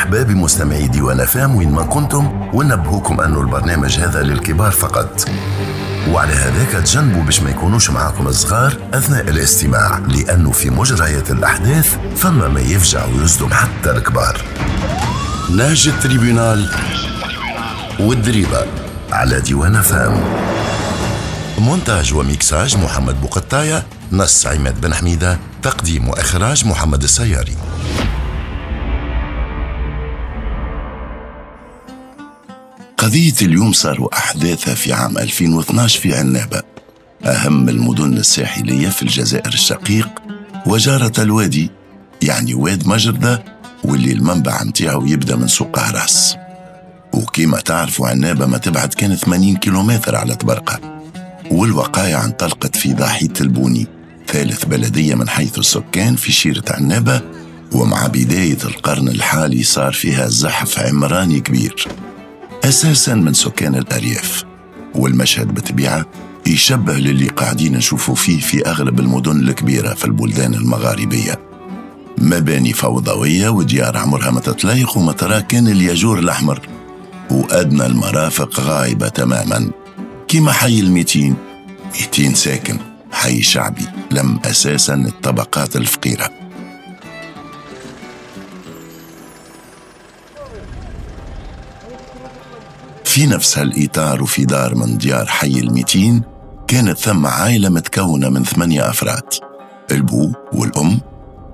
مرحبا بمستمعي ديوان أف أم وين ما كنتم، ونبهوكم أنه البرنامج هذا للكبار فقط، وعلى هذاك تجنبوا باش ما يكونوش معاكم الصغار أثناء الاستماع، لأنه في مجريات الأحداث فما ما يفجع ويصدم حتى الكبار. نهج ال tribunal والدريبة على ديوان أف أم. مونتاج وميكساج محمد بوقطاية، نص عماد بن حميدة، تقديم وإخراج محمد السياري. قضية اليوم صاروا أحداثها في عام 2012 في عنابة، أهم المدن الساحلية في الجزائر الشقيق وجارة الوادي، يعني واد مجردة واللي المنبع متاعه يبدأ من سوق هراس. وكما تعرفوا عنابة ما تبعد كان 80 كيلومتر على طبرقة. والوقائع انطلقت في ضاحية البوني، ثالث بلدية من حيث السكان في شيرة عنابة، ومع بداية القرن الحالي صار فيها زحف عمراني كبير أساساً من سكان الأرياف. والمشهد بطبيعة يشبه للي قاعدين نشوفه فيه في أغلب المدن الكبيرة في البلدان المغاربية، مباني فوضوية وديار عمرها ما تتلايق وما ترى كان الياجور الأحمر، وأدنى المرافق غايبة تماماً، كما حي الميتين، 200 ساكن، حي شعبي لم أساساً الطبقات الفقيرة. في نفس هالإطار وفي دار من ديار حي الميتين كانت ثم عائلة متكونة من 8 أفراد، البو والأم،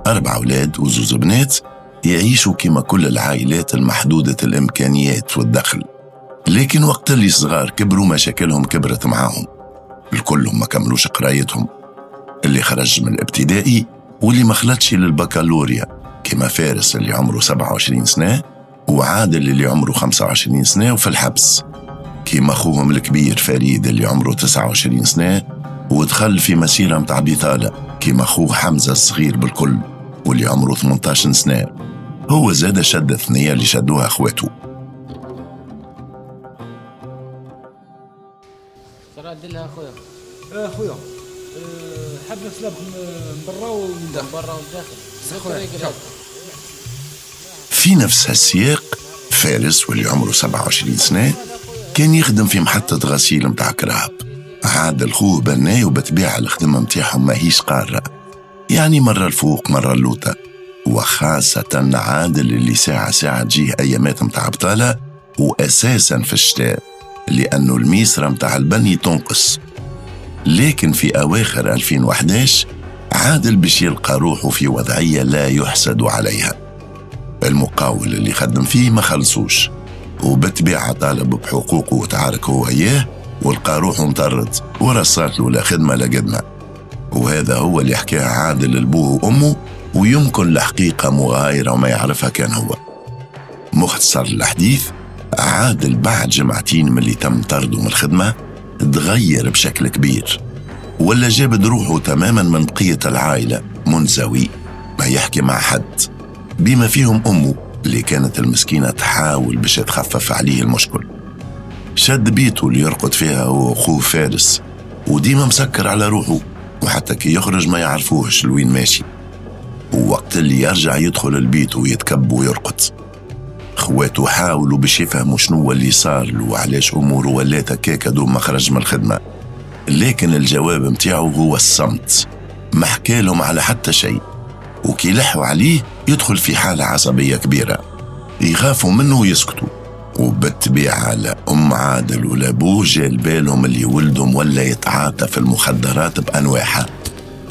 4 أولاد وزوز بنات، يعيشوا كما كل العائلات المحدودة الإمكانيات والدخل. لكن وقت اللي صغار كبروا مشاكلهم كبرت معاهم، الكل ما كملوش قرايتهم، اللي خرج من الابتدائي واللي ما خلطش للبكالوريا، كما فارس اللي عمره 27 سنة وعادل اللي عمره 25 سنة وفي الحبس، كما أخوهم الكبير فريد اللي عمره 29 سنة ودخل في مسيرة متاع بطالة، كما أخوه حمزة الصغير بالكل واللي عمره 18 سنة، هو زاد شد الثنية اللي شدوها أخواته. ترى أخويا. أخويا حاب نسلب من برا ومن داخل. من برا ومن داخل. في نفس هالسياق فارس واللي عمره 27 سنة كان يخدم في محطة غسيل متاع كراب. عادل خوه بناي وبتبيع الخدمة متاعهم ماهيش قارة، يعني مرة الفوق مرة اللوطة، وخاصة عادل اللي ساعة ساعة تجيه أيامات متاع بطالة، وأساسا في الشتاء لأنه الميسرة متاع البني تنقص. لكن في أواخر 2011 عادل باش يلقى روحه في وضعية لا يحسد عليها. المقاول اللي خدم فيه ما خلصوش، وبالطبيعة طالب بحقوقه وتعارك هو اياه، ولقى روحه مطرد ورصات له لا خدمة لا قدمة. وهذا هو اللي حكاه عادل لبوه وأمه، ويمكن الحقيقة مغايرة وما يعرفها كان هو. مختصر الحديث، عادل بعد جمعتين من اللي تم طرده من الخدمة تغير بشكل كبير، ولا جابد روحه تماما من بقية العائلة، منزوي ما يحكي مع حد، بما فيهم أمه اللي كانت المسكينة تحاول باش تخفف عليه المشكل. شد بيته اللي يرقد فيها هو وأخوه فارس، وديما مسكر على روحه، وحتى كي يخرج ما يعرفوهش لوين ماشي، ووقت اللي يرجع يدخل البيت ويتكب ويرقد. خواته حاولوا باش يفهموا شنو اللي صار له وعلاش أموره ولات هكاكا دوم ما خرج من الخدمة، لكن الجواب متاعه هو الصمت، ما حكالهم على حتى شيء. وكي لحوا عليه يدخل في حالة عصبية كبيرة، يخافوا منه ويسكتوا. وبالطبيعة لا أم عادل ولا أبوه جال بالهم اللي ولدهم ولا يتعاطى في المخدرات بأنواعها،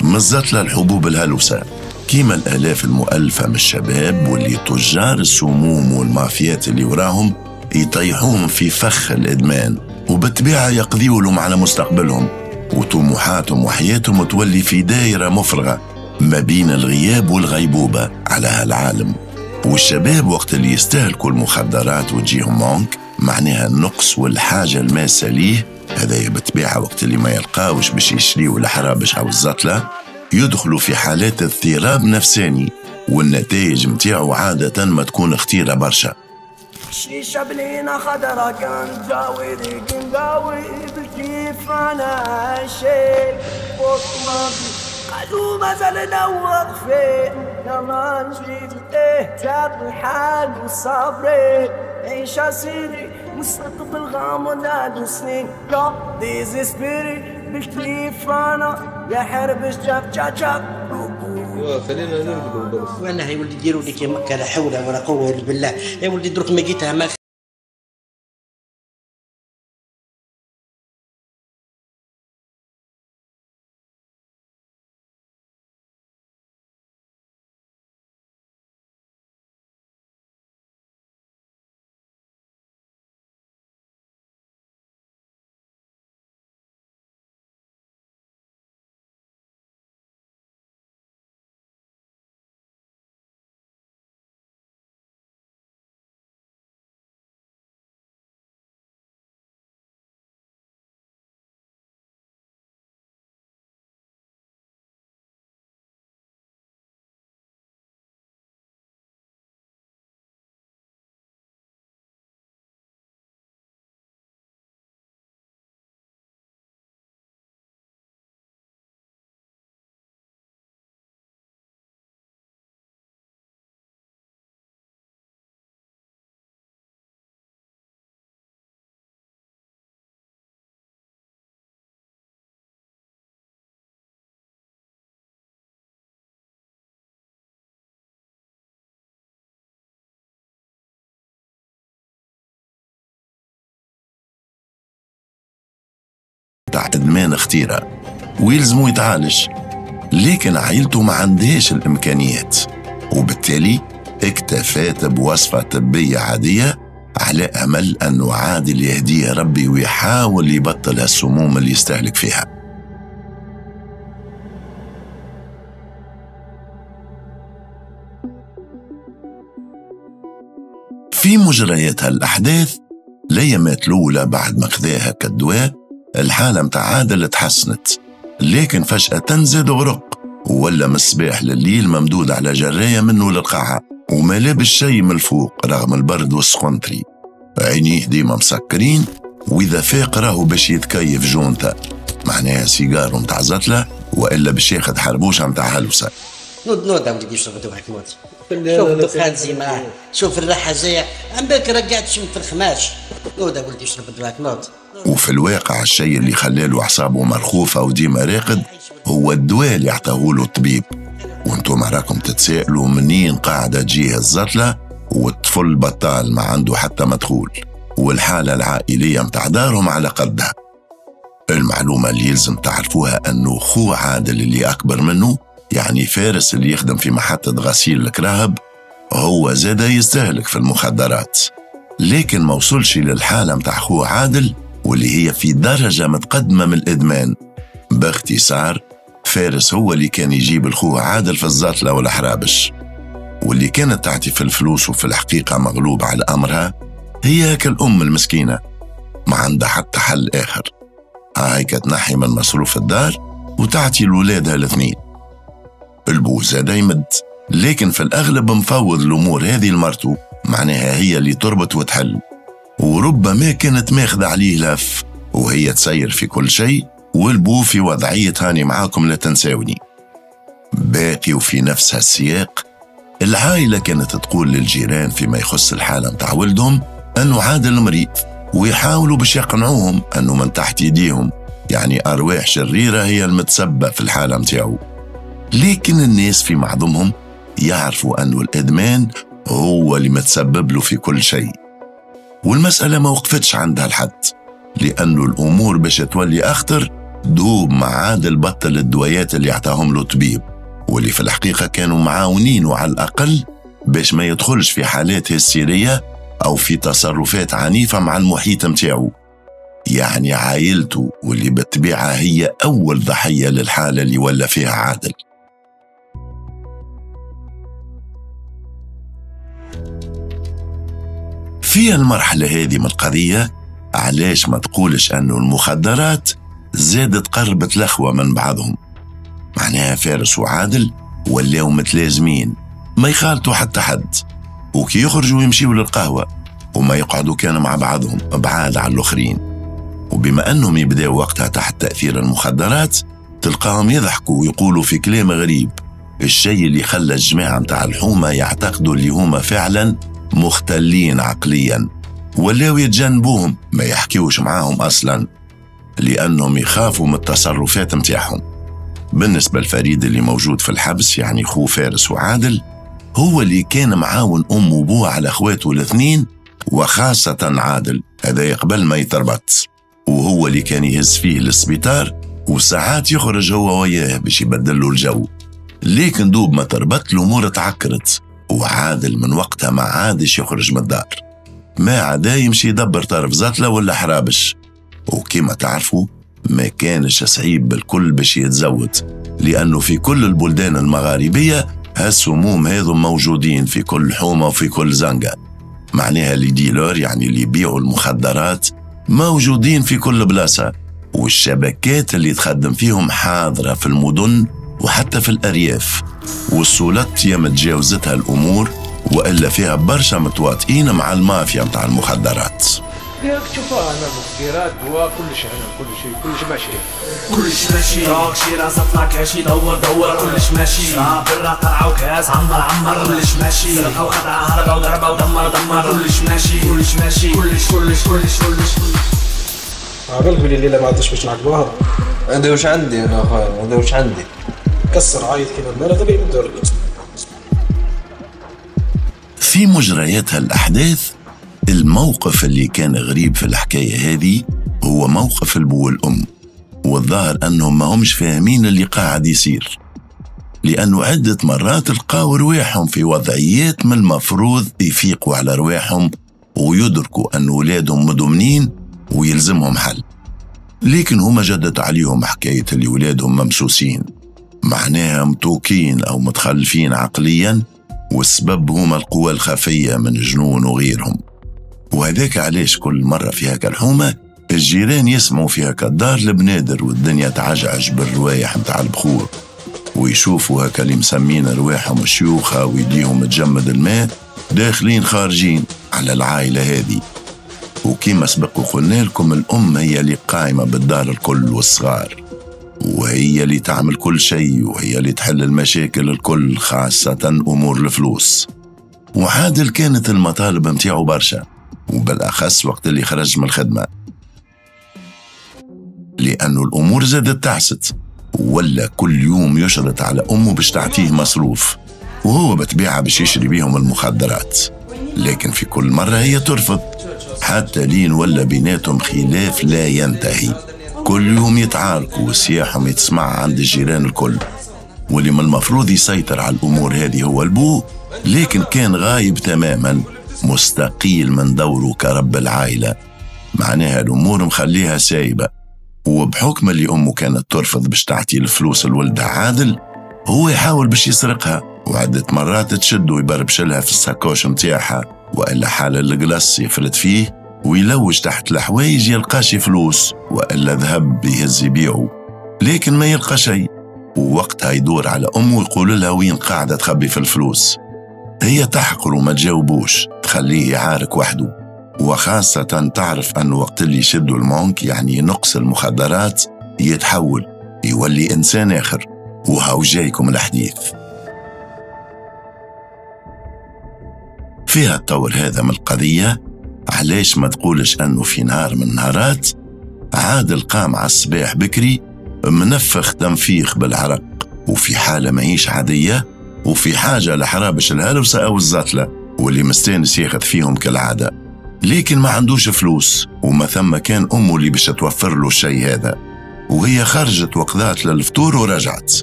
مزت الحبوب الهلوسة كيما الآلاف المؤلفة من الشباب واللي تجار السموم والمافيات اللي وراهم يطيحوهم في فخ الإدمان، وبالطبيعة يقضيوا لهم على مستقبلهم وطموحاتهم وحياتهم، وتولي في دائرة مفرغة ما بين الغياب والغيبوبة على هالعالم. والشباب وقت اللي يستهلكوا المخدرات وتجيهم manque، معناها النقص والحاجة الماسة ليه، هذا بالطبيعة وقت اللي ما يلقاوش باش يشريوا الحرابش أو الزطلة، يدخلوا في حالات اضطراب نفساني، والنتائج متاعو عادة ما تكون خطيرة برشا. شيشة بلينا خضرا كان جاوي نداوي بالكيف انا شيء قالوا مازالنا واقفين. يلا نجري ايه تاب الحال وصبري عيش سيدي مستقبل غامض عدو سنين لا ديزيسبيري بالكيف انا يا حرب جاب جاب جاب. خلينا نرقدوا بس. وانا يا ولدي ديروا لي كيما لا حول ولا قوة الا بالله يا ولدي. درك ما جيتها ما ادمان خطيرة ويلزمو يتعالج، لكن عائلته ما عندهاش الامكانيات، وبالتالي اكتفات بوصفه طبية عادية على امل انه عادل يهديه ربي ويحاول يبطل السموم اللي يستهلك فيها. في مجريات هالاحداث الايامات الاولى بعد ما خذاها كالدواء الحالة متاع عادل تحسنت، لكن فجأة زاد غرق ولا من الصباح لليل ممدود على جراية منه للقاعة وما لابس شي من الفوق رغم البرد والسخنتري. عينيه ديما مسكرين، وإذا فاق راهو باش يتكيف جونتا، معناها سيجارو متاع زتلة وإلا باش ياخذ حربوشة متاع هلوسة. نوض نوض وليدي شوف دوحك نوض. شوف الدخان زي شوف الريحة جاية عم بالك رجعت شم في الخماش. نوض ولدي شرب دواك نوض. وفي الواقع الشيء اللي خلاله أعصابه مرخوفة وديما راقد هو الدواء اللي عطاهوله الطبيب. وانتم راكم تتسائلوا منين قاعدة تجيه الزتلة والطفل بطال ما عنده حتى مدخول، والحالة العائلية متاع دارهم على قدها. المعلومة اللي يلزم تعرفوها أنه خو عادل اللي أكبر منه، يعني فارس اللي يخدم في محطة غسيل الكراهب، هو زاد يستهلك في المخدرات، لكن ما وصلش للحالة متاع خو عادل واللي هي في درجة متقدمة من الإدمان. باختصار فارس هو اللي كان يجيب الخو عادل في الزطلة والحرابش، واللي كانت تعطي في الفلوس وفي الحقيقة مغلوب على أمرها هي كالأم المسكينة، ما عندها حتى حل آخر. هاي كتنحي من مصروف الدار وتعطي لولادها الاثنين. البو زاد يمد، لكن في الأغلب مفوض الأمور هذه لمرته، معناها هي اللي تربط وتحل، وربما كانت ماخذة عليه لف وهي تسير في كل شيء، والبو في وضعية هاني معاكم لا تنساوني. باقي وفي نفس هالسياق العائلة كانت تقول للجيران فيما يخص الحالة متاع ولدهم أنه عادل مريض، ويحاولوا باش يقنعوهم أنه من تحت يديهم، يعني أرواح شريرة هي المتسبة في الحالة متاعو. لكن الناس في معظمهم يعرفوا أنه الإدمان هو اللي متسبب له في كل شيء، والمسألة ما وقفتش عندها الحد، لأنه الأمور باش تولي أخطر دوب ما عادل بطل الدويات اللي عطاهم له طبيب، واللي في الحقيقة كانوا معاونينه على الأقل باش ما يدخلش في حالات هستيرية أو في تصرفات عنيفة مع المحيط متاعو، يعني عائلته واللي بالطبيعة هي أول ضحية للحالة اللي ولا فيها عادل. في المرحلة هذه من القضية علاش ما تقولش أنه المخدرات زادت قربت الأخوة من بعضهم، معناها فارس وعادل ولاو متلازمين ما يخالطوا حتى حد، وكي يخرجوا يمشيوا للقهوة وما يقعدوا كانوا مع بعضهم بعاد على الآخرين. وبما أنهم يبداوا وقتها تحت تأثير المخدرات تلقاهم يضحكوا ويقولوا في كلام غريب، الشيء اللي خلى الجماعة متاع الحومة يعتقدوا اللي هما فعلا مختلين عقليا، ولاو يتجنبوهم ما يحكيوش معاهم أصلا لأنهم يخافوا من التصرفات متاعهم. بالنسبة لفريد اللي موجود في الحبس، يعني خو فارس وعادل، هو اللي كان معاون أم وبوه على أخواته الاثنين وخاصة عادل، هذا قبل ما يتربط، وهو اللي كان يهز فيه للسبيطار وساعات يخرج هو وياه باش يبدل له الجو. لكن دوب ما تربط الأمور تعكرت، وعادل من وقتها ما عادش يخرج من الدار، ما عدا يمشي يدبر طرف زطلة ولا حرابش. وكما تعرفوا ما كانش صعيب بالكل باش يتزود، لأنه في كل البلدان المغاربية هالسموم هذو موجودين في كل حومة وفي كل زنقة. معناها les dealers، يعني اللي يبيعوا المخدرات، موجودين في كل بلاصة، والشبكات اللي تخدم فيهم حاضرة في المدن وحتى في الأرياف. والسلطات يا متجاوزتها الأمور وإلا فيها برشا متواطئين مع المافيا متاع المخدرات. ياك تشوفها انا مخدرات دواء كل شيء، هنا كل شيء، كل شيء ماشي، كل شيء ماشي. روك شي راسه طلع كاشي دور دور، كل شيء ماشي. برا طلع وكاس عمر عمر، كل شيء ماشي. سرقه وخدعه هربه وضربه ودمر دمر، كل شيء ماشي، كل شيء ماشي، كل شيء كل شيء كل شيء كل شيء. عبالك بلي الليلة ما عندوش باش نعقبوها. هذا واش عندي انا اخويا، هذا واش عندي. كسر عايط كيما المال هذا بيدور. في مجريات هالاحداث، الموقف اللي كان غريب في الحكاية هذه هو موقف البو والأم، والظاهر أنهم ما همش فاهمين اللي قاعد يصير، لأنه عدة مرات لقاو رواحهم في وضعيات من المفروض يفيقوا على رواحهم ويدركوا أن ولادهم مدمنين ويلزمهم حل، لكن هما جدت عليهم حكاية اللي ولادهم ممسوسين، معناها متوكين أو متخلفين عقليا، والسبب هما القوى الخفية من جنون وغيرهم. وهذاك علاش كل مرة في هكا الحومة الجيران يسمعوا في هكا الدار البنادر والدنيا تعجعج بالروايح متاع البخور، ويشوفوا هكا اللي مسمين رواحهم شيوخة ويديهم تجمد الماء داخلين خارجين على العائلة هذه. وكما سبق وقلنا لكم، الأم هي اللي قايمة بالدار الكل والصغار، وهي اللي تعمل كل شيء، وهي اللي تحل المشاكل الكل، خاصة أمور الفلوس. وعادل كانت المطالب متاعه برشا، وبالأخص وقت اللي خرج من الخدمة، لأنه الأمور زادت تعست، ولا كل يوم يشرط على أمه باش تعطيه مصروف، وهو بتبيعها باش يشري بيهم المخدرات، لكن في كل مرة هي ترفض، حتى لين ولا بيناتهم خلاف لا ينتهي. كل يوم يتعاركوا وسياحهم يتسمع عند الجيران الكل، واللي من المفروض يسيطر على الأمور هذه هو البو، لكن كان غايب تماما، مستقيل من دوره كرب العائلة، معناها الأمور مخليها سايبة. وبحكم اللي أمه كانت ترفض باش تعطي الفلوس لولدها عادل، هو يحاول باش يسرقها، وعدة مرات تشد ويبربشلها في الساكوش متاعها، وإلا حال القلص يفلت فيه ويلوج تحت الحوايج يلقاش فلوس وإلا ذهب يهز يبيعه، لكن ما يلقى شيء. ووقتها يدور على أمه ويقول لها وين قاعدة تخبي في الفلوس. هي تحقر وما تجاوبوش، تخليه يعارك وحده، وخاصة تعرف أنه وقت اللي يشدوا المونك، يعني نقص المخدرات، يتحول يولي إنسان آخر. وهاو جايكم الحديث فيها الطور هذا من القضية. علاش ما تقولش أنه في نهار من النهارات عادل قام على الصباح بكري منفخ تنفيخ بالعرق، وفي حالة ماهيش عادية، وفي حاجة لحرابش الهلوسة أو الزتلة واللي مستانس ياخذ فيهم كالعادة، لكن ما عندوش فلوس، وما ثم كان أمه اللي باش توفر له الشيء هذا. وهي خرجت وقضات للفطور ورجعت،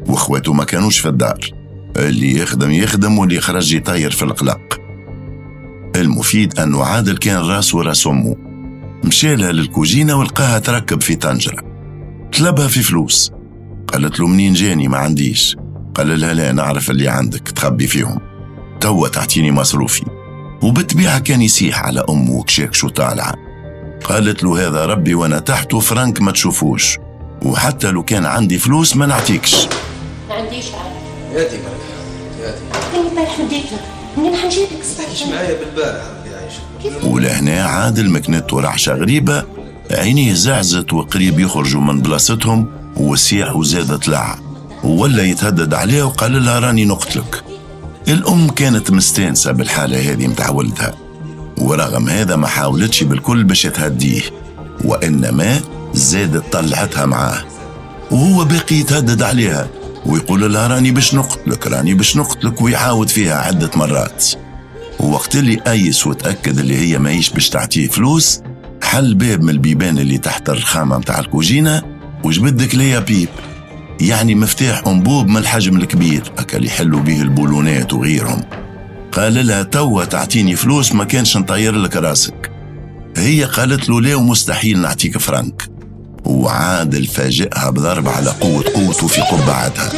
واخواته ما كانوش في الدار، اللي يخدم يخدم واللي خرج يطير في القلق. المفيد أنه عادل كان راسه راس أمه، مشالها للكوجينة ولقاها تركب في طنجرة، طلبها في فلوس، قالت له منين جاني ما عنديش، قال لها لا نعرف اللي عندك تخبي فيهم، توا تعطيني مصروفي. وبالطبيعة كان يسيح على أمه وكشاكشو طالعة، قالت له هذا ربي وأنا تحته فرنك ما تشوفوش، وحتى لو كان عندي فلوس ما نعطيكش. ما عنديش عاد. ياتي برك ياتي. أنا البارح مديت لك، منين حنجيب لك الصباح؟ معايا بالبارح ربي يعيشك. ولهنا عادل مكنته رعشة غريبة، عينيه زعزت وقريب يخرجوا من بلاصتهم، وسيح وزاد طلع، ولا يتهدد عليها وقال لها راني نقتلك. الأم كانت مستانسة بالحالة هذه متاع ولدها، ورغم هذا ما حاولتش بالكل باش تهديه، وإنما زادت طلعتها معاه، وهو باقي يتهدد عليها ويقول لها راني باش نقتلك راني باش نقتلك، ويعاود فيها عدة مرات. ووقت اللي أيس وتأكد اللي هي ماهيش باش تعطيه فلوس، حل باب من البيبان اللي تحت الرخامة متاع الكوجينة وجبد clé à pipe، يعني مفتاح أنبوب من الحجم الكبير أكل يحلوا به البولونات وغيرهم. قال لها توا تعطيني فلوس ما كانش نطير لك راسك. هي قالت له لا ومستحيل نعطيك فرنك. وعادل فاجئها بضرب على قوة قوته في قبعتها.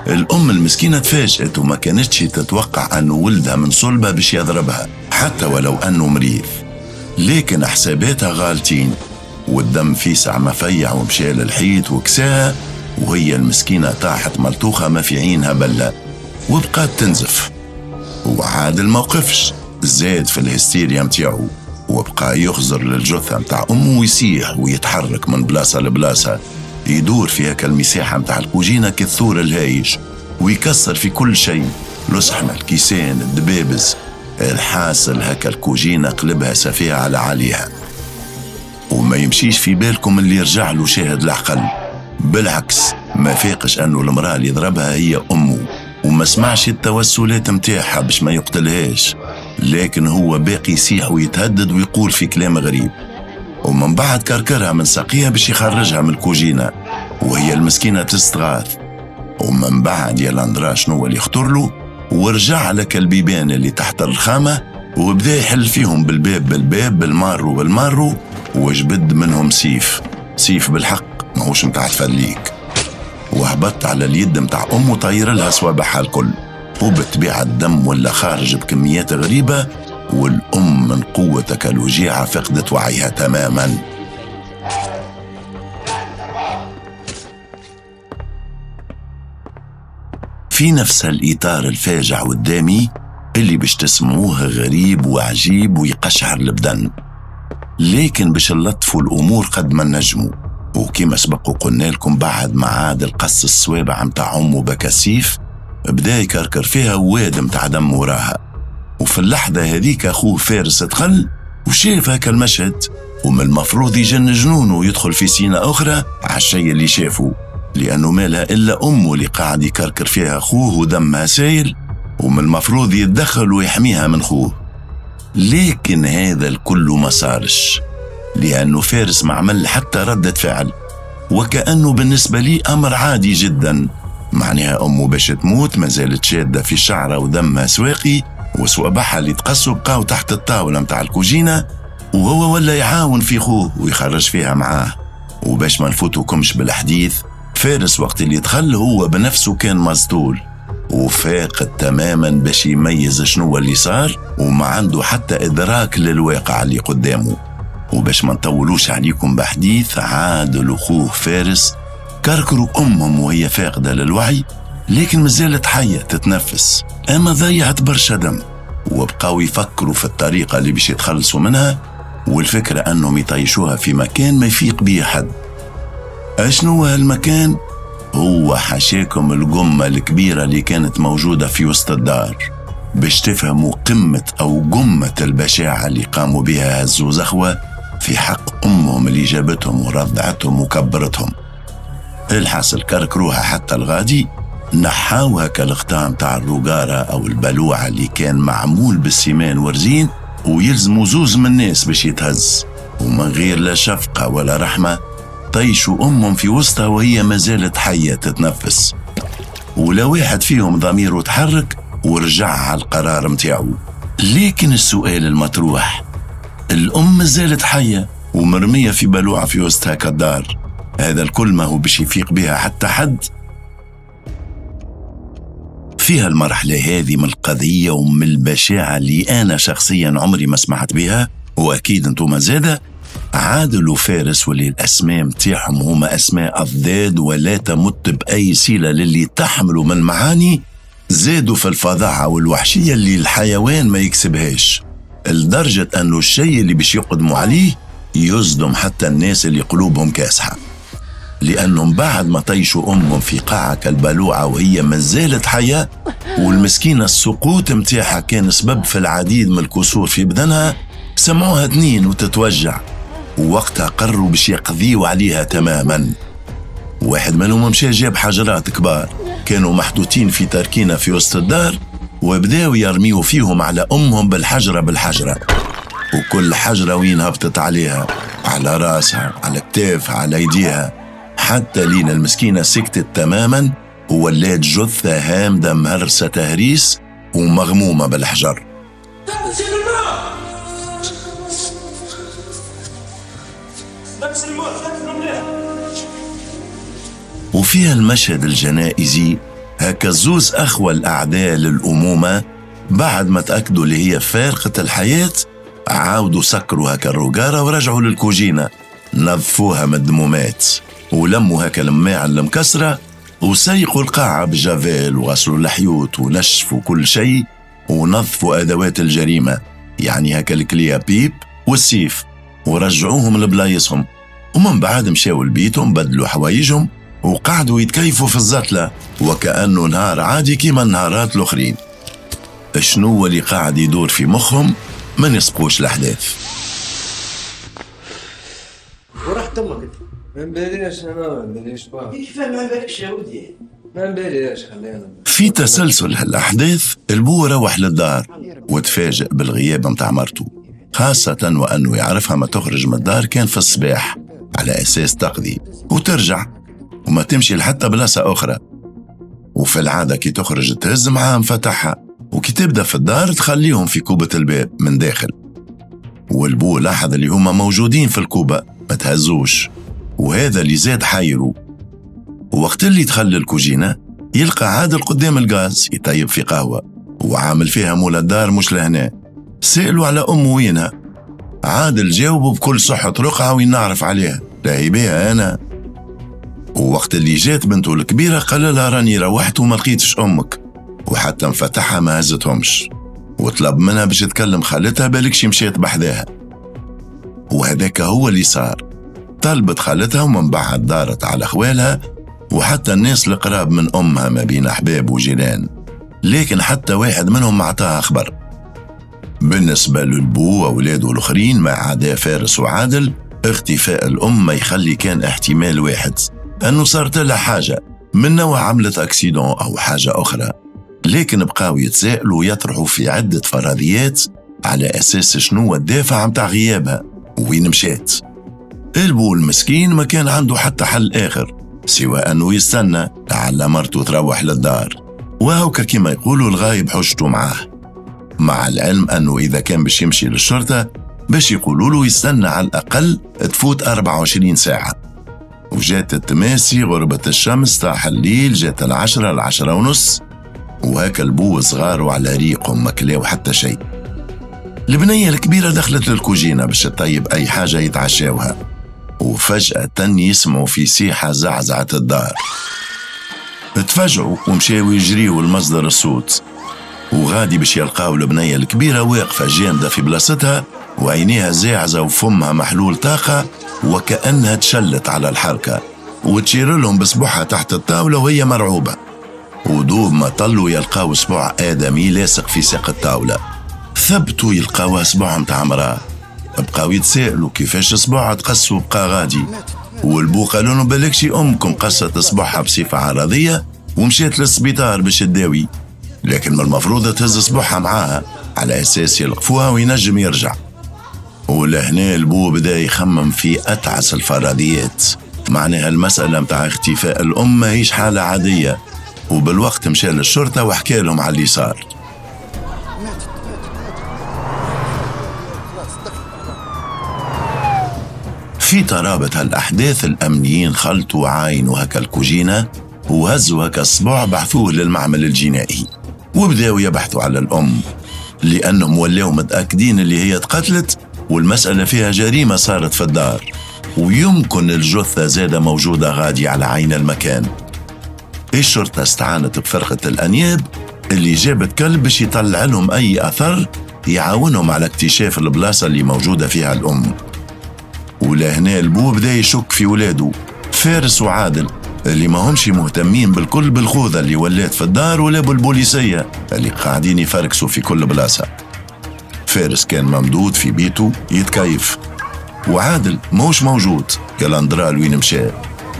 الأم المسكينة تفاجأت وما كانتش تتوقع أنه ولدها من صلبة باش يضربها حتى ولو أنه مريض، لكن حساباتها غالتين، والدم في ساعة ما فيع ومشى للحيط وكساها، وهي المسكينة طاحت ملطوخة ما في عينها بلة وبقات تنزف. وعادل ما وقفش، زاد في الهستيريا متاعو وبقى يخزر للجثة متاع أمه ويسيح ويتحرك من بلاصة لبلاصة، يدور في هكا المساحة متاع الكوجينة كالثور الهايج ويكسر في كل شيء، لصحنة الكيسان الدبابز. الحاصل هكا الكوجينة قلبها سفيها على عليها. وما يمشيش في بالكم اللي يرجع له شاهد العقل، بالعكس ما فاقش أنه المرأة اللي ضربها هي أمه، وما سمعش التوسلات متاعها باش ما يقتلهاش، لكن هو باقي يسيح ويتهدد ويقول في كلام غريب. ومن بعد كركرها من ساقيها باش يخرجها من الكوجينة، وهي المسكينة تستغاث. ومن بعد يا لاندرا شنو اللي يخطر له، ورجع لك البيبان اللي تحت الرخامة وبدا يحل فيهم بالباب بالباب بالمارو بالمارو، وجبد منهم سيف، سيف بالحق ماهوش متاع تفليك، وهبط على اليد متاع أمه طير لها صوابعها الكل، وبالطبيعة الدم ولا خارج بكميات غريبة، والأم من قوة الوجيعة فقدت وعيها تماما. في نفس الإطار الفاجع والدامي اللي باش تسمعوه غريب وعجيب ويقشعر البدن، لكن باش نلطفوا الأمور قد ما نجموا. وكما سبق وقلنا لكم بعد ما عاد القص الصوابع متاع أمه بكسيف بدا يكركر فيها واد متاع دم وراها. وفي اللحظة هذيك أخوه فارس دخل وشاف هكا المشهد، ومن المفروض يجن جنونه ويدخل في سينة أخرى على الشيء اللي شافه، لأنه مالها إلا أمه اللي قاعد يكركر فيها أخوه ودمها سايل، ومن المفروض يتدخل ويحميها من خوه. لكن هذا الكل ما صارش، لأنه فارس ما عمل حتى ردة فعل، وكأنه بالنسبة لي أمر عادي جدا. معناها أمه باش تموت ما زالت شادة في شعرها ودمها سواقي، وصوابعها اللي تقصوا بقاو تحت الطاولة متاع الكوجينة، وهو ولا يعاون في خوه ويخرج فيها معاه. وباش ما نفوتوكمش بالحديث، فارس وقت اللي دخل هو بنفسه كان مسطول وفاقد تماما باش يميز شنو اللي صار، وما عنده حتى إدراك للواقع اللي قدامه. وباش ما نطولوش عليكم بحديث، عادل وخوه فارس كركروا أمهم وهي فاقدة للوعي، لكن مازالت حية تتنفس، أما ضيعت برشا دم. وبقاو يفكروا في الطريقة اللي باش يتخلصوا منها، والفكرة أنهم يطيشوها في مكان ما يفيق بيه حد. أشنو هالمكان؟ هو حاشاكم الجمة الكبيرة اللي كانت موجودة في وسط الدار، باش تفهموا قمة أو جمة البشاعة اللي قاموا بها هالزوز أخوة في حق أمهم اللي جابتهم ورضعتهم وكبرتهم. الحاصل كركروها حتى الغادي، نحاوها كالغطاء متاع الرقارة أو البلوعة اللي كان معمول بالسيمان ورزين، ويلزموا زوز من الناس باش يتهز، ومن غير لا شفقة ولا رحمة طيشوا أمهم في وسطها وهي ما زالت حية تتنفس. ولا واحد فيهم ضميره تحرك ورجع على القرار متاعو. لكن السؤال المطروح، الأم ما زالت حية ومرمية في بلوعة في وسطها كالدار، هذا الكل ما هو باش يفيق بها حتى حد. فيها المرحلة هذه من القضية ومن البشاعة اللي أنا شخصيا عمري ما سمعت بها، وأكيد أنتم زادة، عادل وفارس واللي الأسماء متاعهم هما أسماء أضداد ولا تمت بأي صلة للي تحملوا من معاني، زادوا في الفظاعة والوحشية اللي الحيوان ما يكسبهاش، لدرجة أنه الشيء اللي باش يقدموا عليه يصدم حتى الناس اللي قلوبهم كاسحة، لأنهم بعد ما طيشوا أمهم في قاعة كالبلوعة وهي مازالت حية، والمسكينة السقوط متاعها كان سبب في العديد من الكسور في بدنها، سمعوها تنين وتتوجع، ووقتها قرروا باش يقضيوا عليها تماما. واحد منهم مشى جاب حجرات كبار كانوا محطوطين في تركينة في وسط الدار، وبداوا يرميوا فيهم على أمهم بالحجرة بالحجرة، وكل حجرة وين هبطت عليها، على راسها، على كتافها، على يديها، حتى لين المسكينة سكتت تماما وولات جثة هامدة مهرسة تهريس ومغمومة بالحجر. وفيها المشهد الجنائزي هكا زوز أخوة الأعداء للأمومة بعد ما تأكدوا اللي هي فارقة الحياة، عاودوا سكروا هكا الرجارة ورجعوا للكوجينة، نظفوها من الدمومات ولموا هكا الماعن المكسرة وسيقوا القاعة بجافيل وغسلوا الحيوط ونشفوا كل شيء ونظفوا أدوات الجريمة، يعني هكا ال clé à pipe والسيف، ورجعوهم لبلايصهم. ومن بعد مشاو لبيتهم، بدلوا حوايجهم وقعدوا يتكيفوا في الزتلة وكأنه نهار عادي كيما النهارات الأخرين. شنو اللي قاعد يدور في مخهم ما نسبقوش الأحداث. ورحت أمك أنت؟ ما نباليش أنا، ما نباليش باه. كيف ما نبالكش يا ولدي؟ ما نباليش خلينا. في تسلسل هالأحداث البو روح للدار وتفاجئ بالغياب متاع مرته، خاصة وأنه يعرفها ما تخرج من الدار كان في الصباح على أساس تقضي وترجع وما تمشي لحتى بلاصة أخرى. وفي العادة كي تخرج تهز معاها مفتاحها، وكي تبدأ في الدار تخليهم في كوبة الباب من داخل. والبو لاحظ اللي هما موجودين في الكوبة ما تهزوش، وهذا اللي زاد حيره. ووقت اللي دخل الكوجينة يلقى عادل قدام الغاز يطيب في قهوة وعامل فيها مولا الدار مش لهنا. سألوا على أمه وينها، عادل جاوبه بكل صحة رقعة وين نعرف عليها، لا هي بيها أنا. ووقت اللي جات بنته الكبيرة قال لها راني روحت وما لقيتش أمك، وحتى مفتاحها ما هزتهمش، وطلب منها باش تكلم خالتها بالكش مشات بحذاها. وهذاك هو اللي صار، طلبت خالتها ومن بعد دارت على خوالها وحتى الناس القراب من أمها ما بين أحباب وجيران، لكن حتى واحد منهم ما عطاها خبر. بالنسبة للبو وأولاده الآخرين ما عدا فارس وعادل، اختفاء الأم ما يخلي كان احتمال واحد، أنه صارت لها حاجة من نوع عملت accident أو حاجة أخرى، لكن بقاو يتساءلوا ويطرحوا في عدة فرضيات على أساس شنو الدافع متاع غيابها وين مشات. البو المسكين ما كان عنده حتى حل آخر سوى أنه يستنى لعل مرته تروح للدار، وهوكا كما يقولوا الغايب حجته معاه، مع العلم أنه إذا كان باش يمشي للشرطة باش يقولوا له يستنى على الأقل تفوت 24 ساعة. وجات التماسي، غربت الشمس، طاح الليل، جات 10، 10:30، وهاك البو صغار وعلى ريقهم ما كلاو حتى شيء. البنية الكبيرة دخلت للكوجينة باش تطيب أي حاجة يتعشاوها، وفجأة يسمعوا في سيحة زعزعة الدار. تفاجعوا ومشاو يجريوا لمصدر الصوت، وغادي باش يلقاو البنية الكبيرة واقفة جامدة في بلاصتها وعينيها زاعزة وفمها محلول طاقة وكأنها تشلت على الحركة، وتشير لهم بصبعها تحت الطاولة وهي مرعوبة. ودوب ما طلوا يلقاو صبع آدمي لاصق في ساق الطاولة، ثبتوا يلقاوها صبع متاع امرأة. بقاو يتسائلوا كيفاش صبعها تقص وبقى غادي، والبو قالوا لهم بالكشي أمكم قصت صبعها بصفة عرضية ومشات للسبيطار باش تداوي، لكن من المفروض تهز صبعها معاها على أساس يلقفوها وينجم يرجع. ولهنا البو بدا يخمم في أتعس الفرضيات، معناها المسألة متاع اختفاء الأم ماهيش حالة عادية. وبالوقت مشى للشرطة وحكى لهم على اللي صار. في ترابط هالأحداث الأمنيين خلطوا وعاينوا هكا الكوجينة وهزوا هكا الصبع بحثوه للمعمل الجنائي، وبداوا يبحثوا على الأم لأنهم ولاو متأكدين اللي هي تقتلت والمسألة فيها جريمة صارت في الدار، ويمكن الجثة زادة موجودة غادي على عين المكان. الشرطة استعانت بفرقة الأنياب اللي جابت كلب باش يطلع لهم أي أثر يعاونهم على اكتشاف البلاصة اللي موجودة فيها الأم. ولهنا البو بدا يشك في ولاده فارس وعادل اللي ما همش مهتمين بالكل بالخوذة اللي ولات في الدار ولا بالبوليسية اللي قاعدين يفركسوا في كل بلاصة. فارس كان ممدود في بيته يتكيف، وعادل موش موجود كالأندرال وين مشى.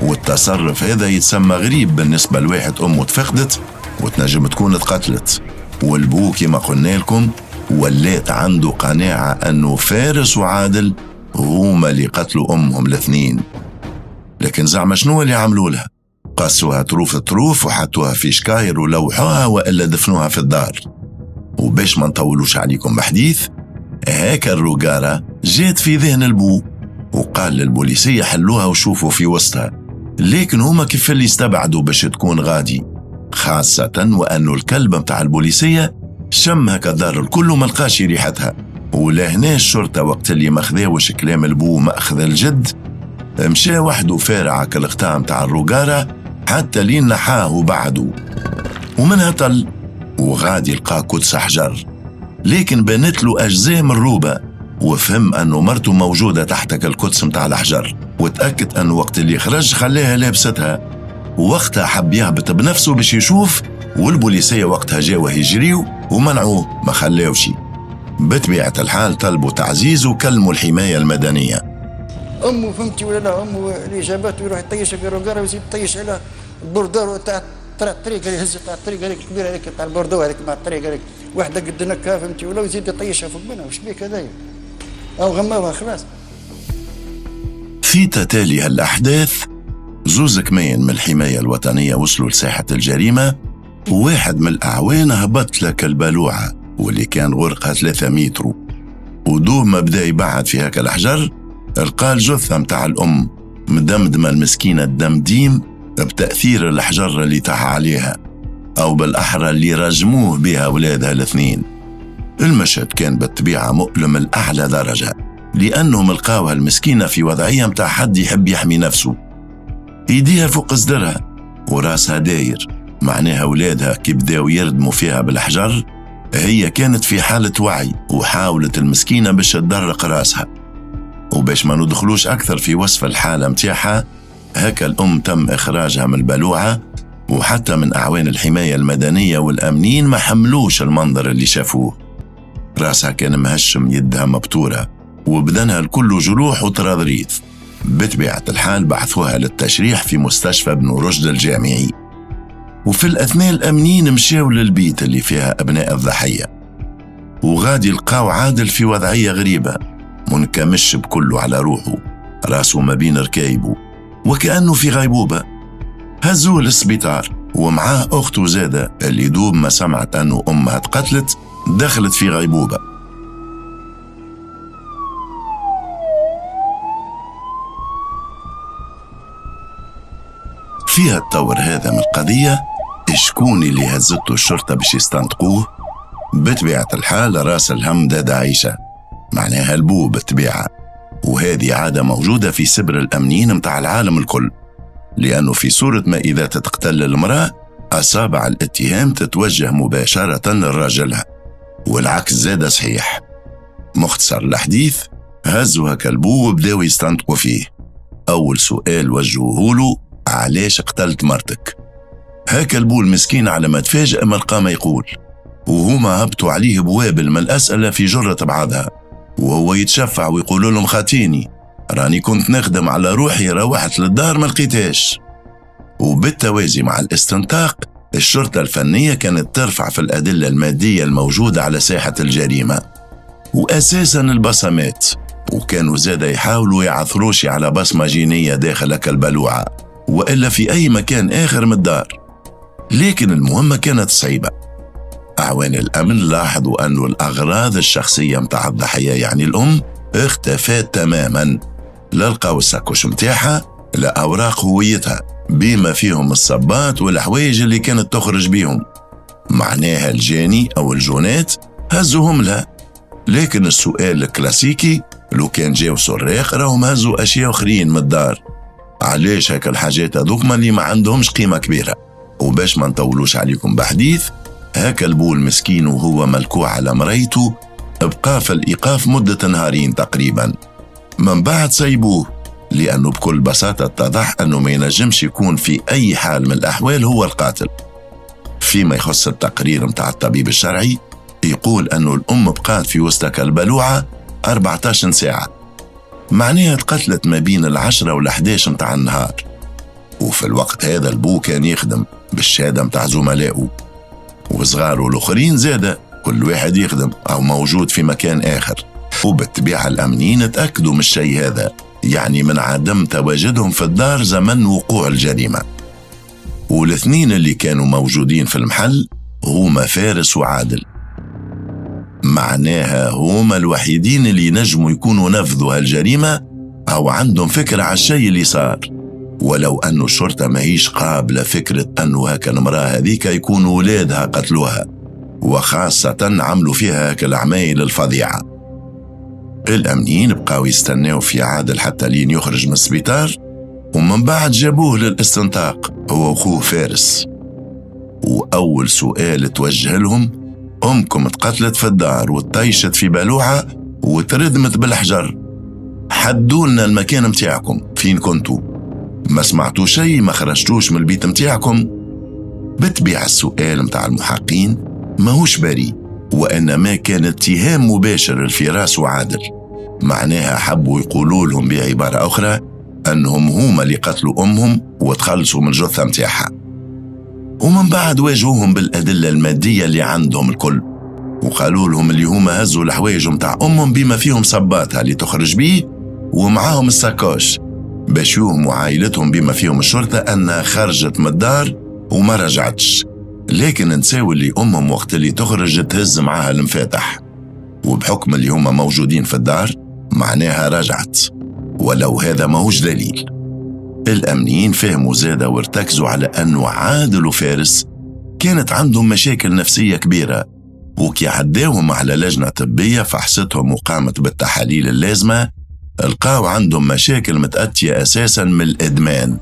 والتصرف هذا يتسمى غريب بالنسبة لواحد أمه تفقدت وتنجم تكون اتقتلت. والبو كما قلنا لكم ولات عنده قناعة أنه فارس وعادل هما اللي قتلوا أمهم الاثنين. لكن زعما شنو اللي عملوا لها؟ قصوها طروف طروف وحطوها في شكاير ولوحوها وإلا دفنوها في الدار. وباش ما نطولوش عليكم بحديث، هاك الرجارة جات في ذهن البو وقال للبوليسية حلوها وشوفوا في وسطها، لكن هما كيف اللي استبعدوا باش تكون غادي، خاصة وأنه الكلب متاع البوليسية شم هكا الدار الكل وما لقاش ريحتها. ولهنا الشرطة وقت اللي ما خذاوش كلام البو مأخذ الجد، مشى وحده فارع كالغطاء متاع الرجارة حتى لين نحاه وبعده، ومنها طل وغادي لقى كدس حجر، لكن بانت له أجزاء من الروبة، وفهم أنه مرته موجودة تحت الكدس متاع الحجر، وتأكد أنه وقت اللي خرج خلاها لابستها. ووقتها حب يهبط بنفسه باش يشوف، والبوليسية وقتها جاوه يجريو ومنعوه ما خلاوشي. بطبيعة الحال طلبوا تعزيز وكلموا الحماية المدنية. أمه فهمتي ولا لا، أمه اللي جابته يروح يطيش في الرجارة ويزيد يطيش على البوردور تاع الطريق اللي يهز تاع الطريق هذيك الكبيرة هذيك تاع البوردو هذيك مع الطريق هذيك واحدة قد نكها فهمتي ولا، ويزيد يطيشها فوق منها. واش بيك هذايا؟ أو غماوها خلاص. في تتالي هالأحداث زوز كمين من الحماية الوطنية وصلوا لساحة الجريمة، وواحد من الأعوان هبط لك البلوعة واللي كان غرقها 3 متر، ودوب ما بدا يبعد في هاك الحجر لقى الجثة متاع الأم مدمدمة المسكينة الدمديم بتأثير الحجر اللي طاح عليها، أو بالأحرى اللي رجموه بها أولادها الاثنين. المشهد كان بالطبيعة مؤلم لأعلى درجة، لأنهم لقاوها المسكينة في وضعية متاع حد يحب يحمي نفسه، ايديها فوق صدرها وراسها داير، معناها أولادها كي بداو يردموا فيها بالحجر هي كانت في حالة وعي، وحاولت المسكينة باش تدرق راسها. وباش ما ندخلوش أكثر في وصف الحالة متاعها، هكا الأم تم إخراجها من البلوعة، وحتى من أعوان الحماية المدنية والأمنيين ما حملوش المنظر اللي شافوه. راسها كان مهشم، يدها مبتورة، وبدنها الكل جروح وتراضريض. بطبيعة الحال بعثوها للتشريح في مستشفى ابن رشد الجامعي. وفي الأثناء الأمنيين مشاو للبيت اللي فيها أبناء الضحية، وغادي لقاو عادل في وضعية غريبة، منكمش بكله على روحه، راسه ما بين ركايبه وكأنه في غيبوبة. هزوه للسبيطار ومعاه أخته زادة اللي دوب ما سمعت أنه أمها تقتلت دخلت في غيبوبة. فيها الطور هذا من القضية شكون اللي هزته الشرطة باش يستنطقوه؟ بطبيعة الحال راس الهم دادة عيشة، معناها البو بالطبيعة، وهذه عادة موجودة في سبر الأمنيين متاع العالم الكل، لأنه في صورة ما إذا تتقتل المرأة أصابع الاتهام تتوجه مباشرة لراجلها، والعكس زاد صحيح. مختصر الحديث، هزوها كلبو وبداو يستنطقوا فيه. أول سؤال وجهوه له: علاش قتلت مرتك؟ هاك البو المسكين على ما تفاجأ ما لقى ما يقول، وهما هبطوا عليه بوابل من الأسئلة في جرة بعضها، وهو يتشفع ويقول لهم خاتيني راني كنت نخدم على روحي، روحت للدار ما لقيتهاش. وبالتوازي مع الاستنطاق الشرطة الفنية كانت ترفع في الأدلة المادية الموجودة على ساحة الجريمة، وأساسا البصمات، وكانوا زادة يحاولوا يعثروش على بصمة جينية داخل البلوعة وإلا في أي مكان آخر من الدار. لكن المهمة كانت صعيبة. أعوان الأمن لاحظوا أن الأغراض الشخصية متاع الضحية يعني الأم اختفت تماما، لا لقاو الساكوش متاعها لا أوراق هويتها بما فيهم الصبات والحوايج اللي كانت تخرج بيهم، معناها الجاني أو الجونات هزوهم لها. لكن السؤال الكلاسيكي، لو كان جاو سراق راهم هزوا أشياء أخرين من الدار، علاش هكا الحاجات هذوك اللي ما عندهمش قيمة كبيرة؟ وباش ما نطولوش عليكم بحديث، هكا البو المسكين وهو ملكوع على مريته بقى في الإيقاف مدة نهارين تقريبا، من بعد سيبوه، لأنه بكل بساطة اتضح أنه ما ينجمش يكون في أي حال من الأحوال هو القاتل. فيما يخص التقرير متاع الطبيب الشرعي، يقول أنه الأم بقات في وسط البلوعة 14 ساعة، معناها تقتلت ما بين 10 و11 متاع النهار. وفي الوقت هذا البو كان يخدم بالشهادة متاع زملائه، وصغاره الآخرين زادة كل واحد يخدم أو موجود في مكان آخر. وبالطبيعة الأمنيين تأكدوا من الشيء هذا، يعني من عدم تواجدهم في الدار زمن وقوع الجريمة. والاثنين اللي كانوا موجودين في المحل هما فارس وعادل، معناها هما الوحيدين اللي نجموا يكونوا نفذوا هالجريمة أو عندهم فكرة على الشيء اللي صار. ولو أن الشرطة ماهيش قابلة فكرة أنه هكا المرأة هذيك يكونوا ولادها قتلوها، وخاصة عملوا فيها هكا العمايل الفظيعة. الأمنيين بقاو يستناو في عادل حتى لين يخرج من السبيطار، ومن بعد جابوه للاستنطاق هو وخوه فارس. وأول سؤال توجه لهم: أمكم تقتلت في الدار وطيشت في بلوعة وتردمت بالحجر، حدولنا المكان متاعكم، فين كنتوا؟ ما سمعتوا شيء؟ ما خرجتوش من البيت متاعكم؟ بتبيع السؤال متاع المحقين ماهوش بريء، وإنما كان اتهام مباشر لفراس وعادل. معناها حبوا يقولوا لهم بعبارة أخرى أنهم هما اللي قتلوا أمهم وتخلصوا من الجثة متاعها. ومن بعد واجهوهم بالأدلة المادية اللي عندهم الكل، وقالوا لهم اللي هما هزوا الحوايج متاع أمهم بما فيهم صباتها اللي تخرج بيه ومعاهم الساكوش، باش يوهموا عائلتهم بما فيهم الشرطة أنها خرجت من الدار وما رجعتش. لكن نساو اللي أمهم وقت اللي تخرج تهز معاها المفاتح، وبحكم اللي هما موجودين في الدار معناها رجعت، ولو هذا ماهوش دليل. الأمنيين فهموا زادة وارتكزوا على أنه عادل وفارس كانت عندهم مشاكل نفسية كبيرة، وكي عداهم على لجنة طبية فحصتهم وقامت بالتحاليل اللازمة، لقاو عندهم مشاكل متأتية أساسا من الإدمان،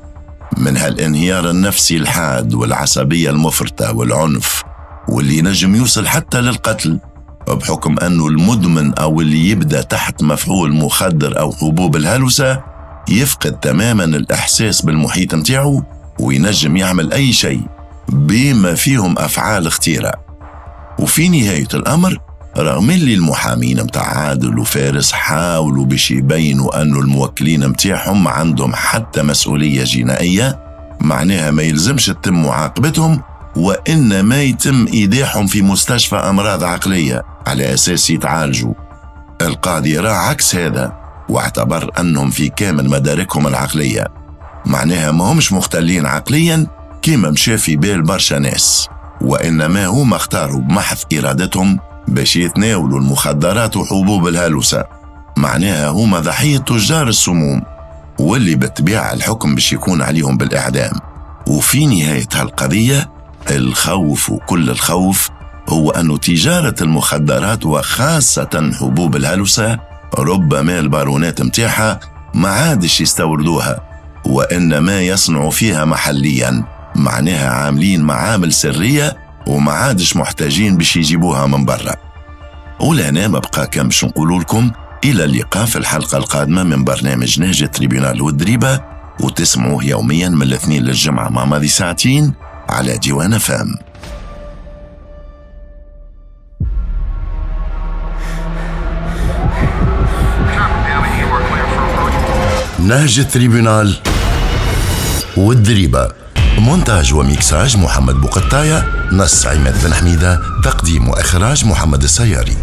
من هالانهيار النفسي الحاد والعصبية المفرطة والعنف، واللي نجم يوصل حتى للقتل، بحكم أنه المدمن أو اللي يبدأ تحت مفعول مخدر أو حبوب الهلوسة يفقد تماما الإحساس بالمحيط متاعه وينجم يعمل أي شيء بما فيهم أفعال خطيرة. وفي نهاية الأمر، رغم اللي المحامين متاع عادل وفارس حاولوا باش يبينوا أنه الموكلين متاعهم عندهم حتى مسؤولية جنائية، معناها ما يلزمش تتم معاقبتهم، وإنما يتم إيداعهم في مستشفى أمراض عقلية على أساس يتعالجوا. القاضي رأى عكس هذا واعتبر أنهم في كامل مداركهم العقلية، معناها ما همش مختلين عقليا كما مشى في بال برشا ناس، وإنما هما اختاروا بمحض إرادتهم باش يتناولوا المخدرات وحبوب الهلوسة، معناها هما ضحية تجار السموم، واللي بالطبيعة الحكم باش يكون عليهم بالإعدام. وفي نهاية هالقضية الخوف، وكل الخوف، هو أن تجارة المخدرات وخاصة حبوب الهلوسة ربما البارونات متاعها ما عادش يستوردوها، وإنما يصنعوا فيها محليا، معناها عاملين معامل سرية وما عادش محتاجين باش يجيبوها من برا. ولهنا ما بقى كان باش نقولوا لكم إلى اللقاء في الحلقة القادمة من برنامج نهج التريبيونال والدريبة، وتسمعوه يوميا من الاثنين للجمعة مع ماضي ساعتين على ديوان فام. نهج التريبيونال والدريبة، مونتاج وميكساج محمد بوقطاية، نص عماد بن حميدة، تقديم وإخراج محمد السياري.